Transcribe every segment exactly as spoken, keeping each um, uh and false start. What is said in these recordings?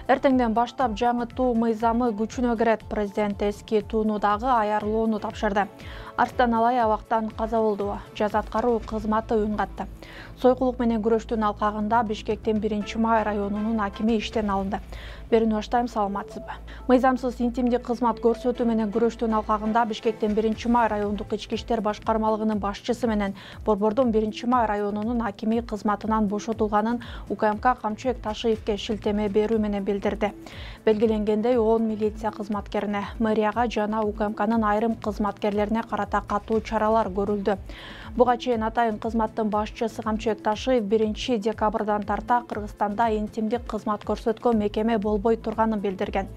Эртеңден баштап жаңытуу мыйзамы күчүнө кирет. Президент эски туунудагы аярлоону тапшырды. Арстан Алай абактан каза болду. Жаза аткаруу кызматы үн катты. Сойкулук менен күрөштүн алкагында Бишкектин биринчи май районунун акими иштен алынды. Берүүнү баштайм, саламатсызбы? Мыйзамсыз интимдик кызмат көрсөтүү менен күрөштүн алкагында Бишкектин биринчи май райондук ички иштер башкармалыгынын башчысы менен Борбордун биринчи май районунун акими кызматынан бошотулганын УКМК Камчыбек Ташиевке шилтеме берүү менен билдирди. Белгиленгендей, он милиция кызматкерине, мэрияга жана УКМКнын айрым кызматкерлерине карата катуу чаралар көрүлдү. Буга чейин атайын кызматтын башчысы Камчыбек Ташиев биринчи декабрдан тарта Кыргызстанда интимдик кызмат көрсөткөн мекеме болбой турганын билдирген.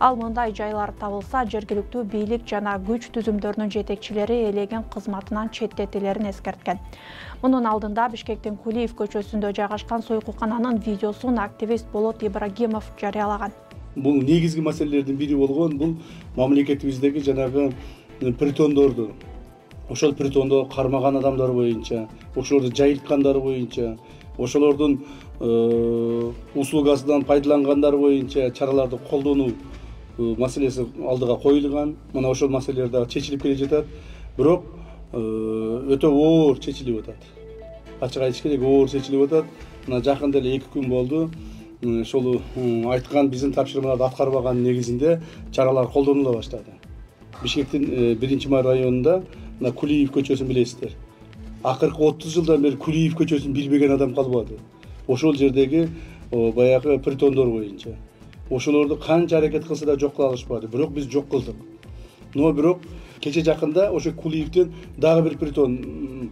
Ал мындай жайлар табылса, жергиликтүү бийлик жана күч түзүмдөрүнүн жетекчилери элеген кызматынан четтетилерин эскерткен. Мунун алдында Бишкектин Кулиев көчөсүндө жайгашкан сойкукананын видеосун активист Болот Ибрагимов жарыялаган. Бул негизги маселелердин бири болгон бул мамлекетибиздеги жанагы притондорду, ошол притондо кармаган адамдар боюнча, ошолорду жайылткандар боюнча, ошолордун услугасынан пайдалангандар боюнча чараларды колдонуу маселеси алдыга коюлган. Мына ошол маселелер дагы чечилип келе жатат. Бирок өтө оор чечилип атат. Ачык айтыш керек, оор чечилип атат. Мына жакында эле эки күн болду. Ошол айткан биздин тапшырмаларды аткарбаган негизинде чаралар колдонула баштады. Бишкектин биринчи май районунда мына Кулиев көчөсүн билесиздер. Акыркы отуз жылдан бери Кулиев көчөсүн билбеген адам калбады. Ошол жердеги баягы притондор боюнча. Ошолорду канча аракет кылса да жок кыла алышпады. Бирок биз жок кылдык. Но бирок кече жакында ошо Кулиевден дагы бир притон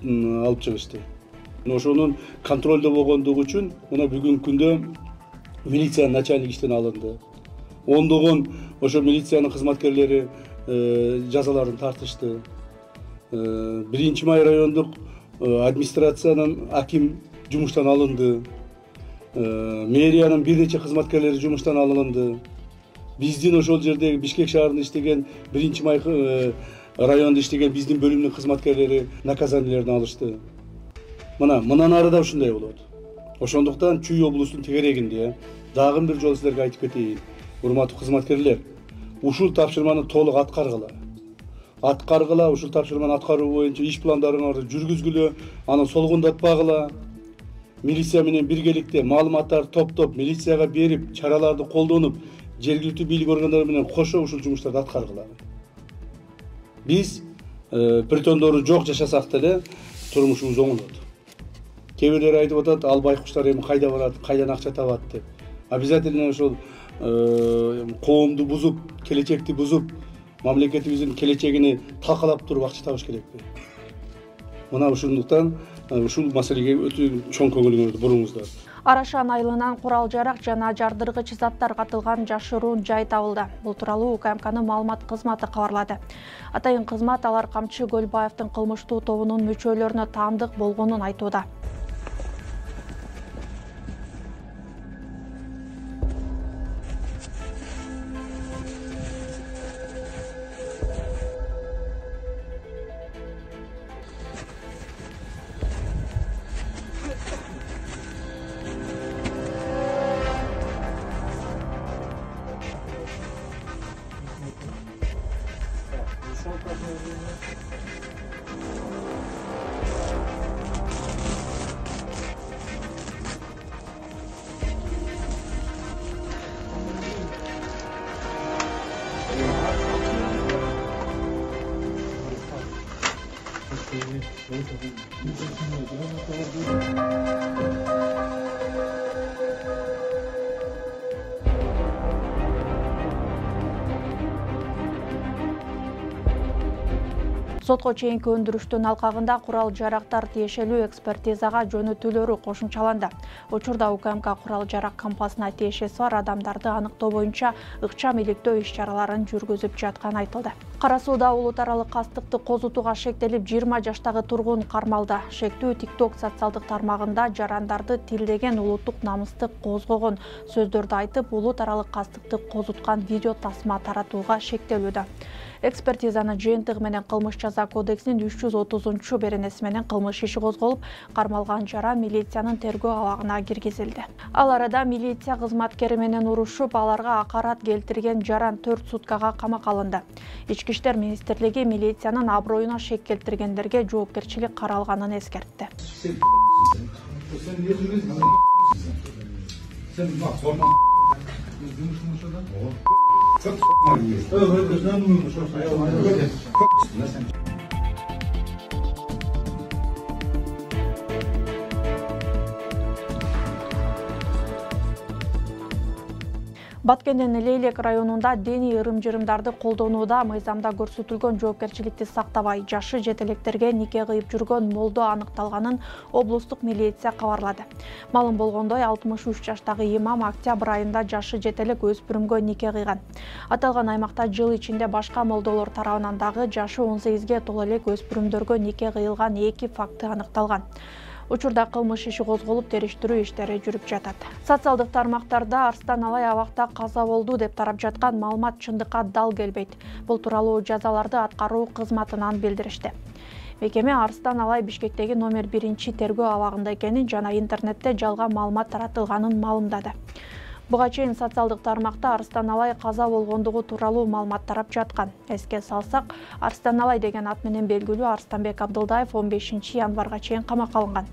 алып чыгышты. Ошонун контролдо болгондугу үчүн мына бүгүнкү күндө милициянын начальник иштен алынды. Ондогон ошо милициянын кызматкерлери жазаларын тартышты. биринчи май райондук администрациянын аким жумуштан алынды. Мэриянын бир нече кызматкерлери жумуштан алынды. Биздин ошол жердеги Бишкек шаарында иштеген биринчи май районунда иштеген биздин бөлүмдүн кызматкерлери наказаниелерин алышты. Мына мындан ары да ушундай болот. Ошондуктан Чүй облустун тегерегинде дагы бир жолу силерге айтып кетейин. Урматтуу кызматкерлер, ушул тапшырманы толук аткаргыла. Аткаргыла, ушул тапшырманы аткаруу боюнча иш пландарыңарды жүргүзгүлө, аны солгундатпагыла. Милиция менен биргеликте маалыматтарды топтоп, милицияга берип, чараларды колдонуп, жергиликтүү бийлик органдары менен кошо ушул жумуштарды аткаргыла. Биз притондору жок жашасак деле турмушубуз оңолот. Кээ бирлери айтып атат, ал байкуштар эми кайда барат, кайдан акча табат деп. Обязательно ошол коомду бузуп, келечекти бузуп, мамлекетибиздин келечегини талкалап туруп акча табыш керекпи? Мына ушундуктан ушул маселеге өтө чоң көңүлүңүздү буруңуздар. Арашан айылынан курал-жарак жана жардыргыч заттар катылган жашыруун жай табылды. Бул тууралуу УКМКнын маалымат кызматы кабарлады. Атайын кызмат алар Камчы Көлбаевдин кылмыштуу тобунун мүчөлөрүнө таандык болгонун айтууда. Сотко чейинки өндүрүштүн алкагында курал-жарактар тиешелүү экспертизага жөнөтүүлөрү кошумчаланды. Учурда УКМК курал-жарак кампасына тиешеси бар адамдарды аныктоо боюнча ыкчам иликтөө иш-чараларын жүргүзүп жатканы айтылды. Кара Сууда улут аралык кастыкты козутууга шектелип жыйырма жаштагы тургун кармалды. Шектүү TikTok социалдык тармагында жарандарды тилдеген улуттук намысты козгогон сөздөрдү айтып, улут аралык кастыкты козуткан видео тасма таратууга шектелүүдө. Экспертизанын жыйынтыгы менен кылмыш жаза кодексинин үч жүз отузунчу беренеси менен кылмыш иши козголуп, кармалган жаран милициянын тергөө абагына киргизилди. Ал арада милиция кызматкери менен урушуп, аларга акарат келтирген жаран төрт суткага камакка алынды. Ички иштер министрлиги милициянын аброюна шек келтиргендерге жоопкерчилик каралганын эскертти. Баткендин Лейлек районунда диний ырым-жырымдарды колдонууда мыйзамда көрсөтүлгөн жоопкерчиликти сактабай, жашы жете электерге нике кыйып жүргөн молдо аныкталганын облустук милиция кабарлады. Малым болгондой, алтымыш үч жаштагы имам октябрь айында жашы жете элек өспүрүмгө нике кыйган. Аталган аймакта жыл ичинде башка молдолор тарабынан дагы жашы он сегизге толо элек өспүрүмдөргө нике кыйылган эки факты аныкталган. Учурда кылмыш иши козголуп, териштирүү иштери жүрүп жатат. Социалдык тармактарда Арстан Алай абакта каза болду деп тарап жаткан маалымат чындыкка дал келбейт. Бул тууралуу жазаларды аткаруу кызматынан билдиришти. Мекеме Арстан Алай Бишкектеги номер биринчи тергөө абагында экенин жана интернетте жалган маалымат таратылганын маалымдады. Буга чейин социалдык тармакта Арстан Алай каза болгондугу тууралуу маалымат тарап жаткан. Эске салсак, Арстан Алай деген ат менен белгилүү Арстанбек Абдылдаев он бешинчи январга чейин камакка алынган.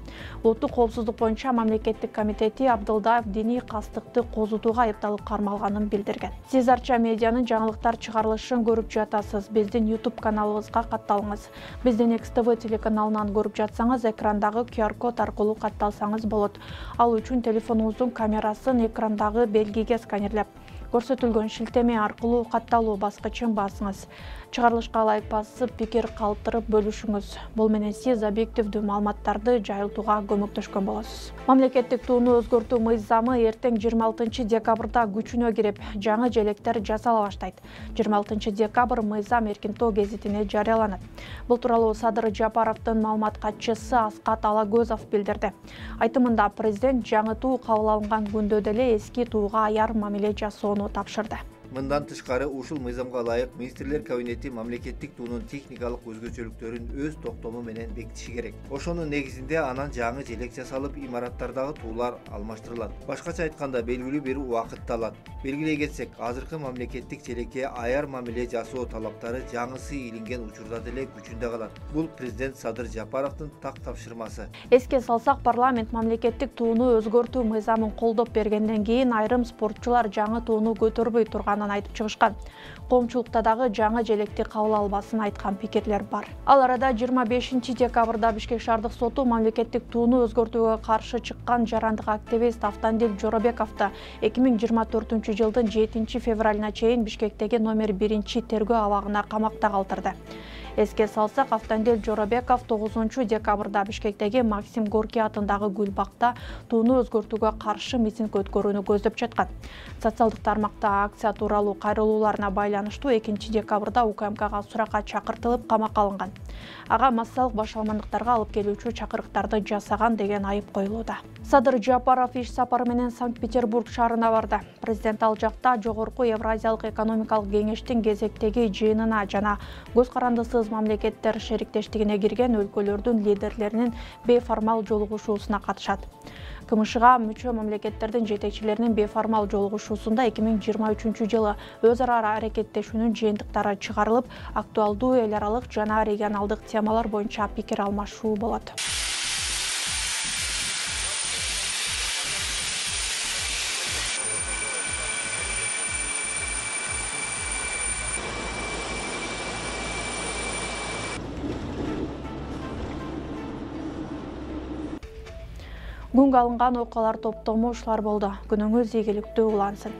Улуттук коопсуздук боюнча мамлекеттик комитети Абдылдаев диний кастыкты козутууга айыпталып кармалганын билдирген. Сиз Арча медианын жаңылыктар чыгарылышын көрүп жатасыз. Биздин YouTube каналыбызга катталыңыз. Биздин Экс Тэ Вэ телеканалынан көрүп жатсаңыз, экрандагы ку ар код аркылуу катталсаңыз болот. Ал үчүн телефонуңуздун камерасын экрандагы белгиге сканерлеп, көрсөтүлгөн шилтеме аркылуу катталуу баскычын басыңыз. Чыгарылышка лайк басып, пикир калтырып бөлүшүңүз. Бул менен сиз объективдүү маалыматтарды жайылтууга көмөктөшкөн болосуз. Мамлекеттик тууну өзгөртүү мыйзамы эртең жыйырма алтынчы декабрда күчүнө кирип, жаңы желектер жасала баштайт. жыйырма алтынчы декабрь мыйзам Эркинтоо гезитине жарыяланат. Бул тууралуу Садыр Жапаровдун маалымат катчысы Аскат Алагөзов билдирди. Айтымында президент жаңы туу кабыл алынган күндө деле эски тууга аяр мамиле жасоону тапшырды. Мындан тышкары ушул мыйзамга ылайык министрлер кабинети мамлекеттик туунун техникалык өзгөчөлүктөрүн өз токтому менен бекитиши керек. Ошонун негизинде анан жаңы желек жасалып, имараттардагы туулар алмаштырылат. Башкача айтканда, белгилүү бир убакытты алат. Белгилей кетсек, азыркы мамлекеттик желекке аяр мамиле жасоо талаптары жаңысы илинген учурда деле күчүндө калат. Бул президент Садыр Жапаровдун так тапшырмасы. Эске салсак, парламент мамлекеттик тууну өзгөртүү мыйзамын колдоп бергенден кийин айрым спортчулар жаңы тууну көтөрбөй турган айтып чыгышкан. Коомчулукта дагы жаңы желекти кабыл албасын айткан пикирлер бар. Ал арада жыйырма бешинчи декабрда Бишкек шаардык соту мамлекеттик тууну өзгөртүүгө каршы чыккан жарандык активист Автандил Жоробековду эки миң жыйырма төртүнчү жылдын жетинчи февралына чейин Бишкектеги номер биринчи тергөө абагына камакта калтырды. Эске салсак, Автандил Жоробеков тогузунчу декабрда Бишкектеги Максим Горький атындагы Гүлбакта тууну өзгөртүүгө каршы митинг өткөрүүнү көздөп жаткан. Социалдык тармакта акция тууралуу кайрылууларына байланыштуу экинчи декабрда У К М Кга суракка чакыртылып камакка алынган. Ага массалык башаламандыктарга алып келүүчү чакырыктарды жасаган деген айып коюлууда. Садыр Жапаров иш сапары менен Санкт-Петербург шаарына барды. Президент ал жакта жогорку Евразиялык экономикалык кеңештин кезектеги жыйынына жана көз карандысыз мамлекеттер шериктештигине кирген өлкөлөрдүн лидерлеринин бейформал жолугушуусуна катышат. К М Шга мүчө мамлекеттердин жетекчилеринин бейформал жолугушуусунда эки миң жыйырма үчүнчү жылы өз ара аракеттешүүнүн жыйынтыктары чыгарылып, актуалдуу эл аралык жана регионалдык темалар боюнча пикир алмашуу болот. Күнгө алынган окуялар топтому ушулар болду. Күнүңүз ийгиликтүү улансын.